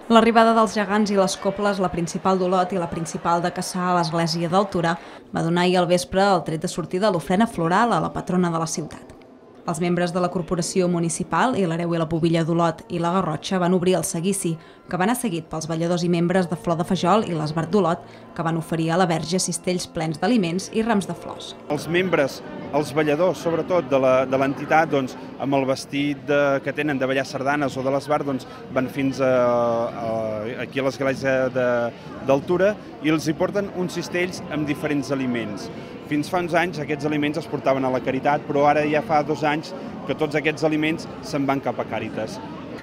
L'arribada dels gegants i les coples, la principal d'Olot i la principal de Cassà a l'església del Torà, va donar ahir al vespre el tret de sortida a l'ofrena floral a la patrona de la ciutat. Els membres de la corporació municipal i l'Hereu i la Pubilla d'Olot i la Garrotxa van obrir el seguici, que va anar seguit pels balladors i membres de Flor de Fajol i l'Esbart d'Olot, que van oferir a la Verge cistells plens d'aliments i rams de flors. Els membres, els balladors, sobretot de l'entitat, amb el vestit que tenen de ballar sardanes o de l'Esbart, van fins aquí a l'església d'Altura i els hi porten uns cistells amb diferents aliments. Fins fa uns anys aquests aliments es portaven a la Caritat, però ara ja fa 2 anys que tots aquests aliments se'n van cap a Càritas.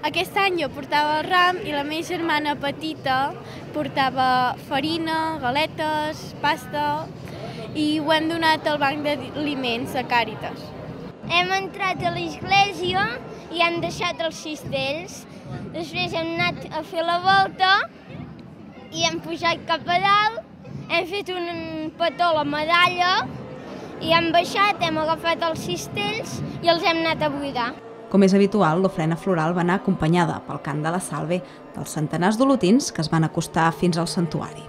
Aquest any jo portava el ram i la meva germana petita portava farina, galetes, pasta i ho hem donat al banc d'aliments a Càritas. Hem entrat a l'església i hem deixat els cistells. Després hem anat a fer la volta i hem pujat cap a dalt, hem fet un petó a la medalla i hem baixat, hem agafat els cistells i els hem anat a buidar. Com és habitual, l'ofrena floral va anar acompanyada pel cant de la salve dels centenars d'olotins que es van acostar fins al santuari.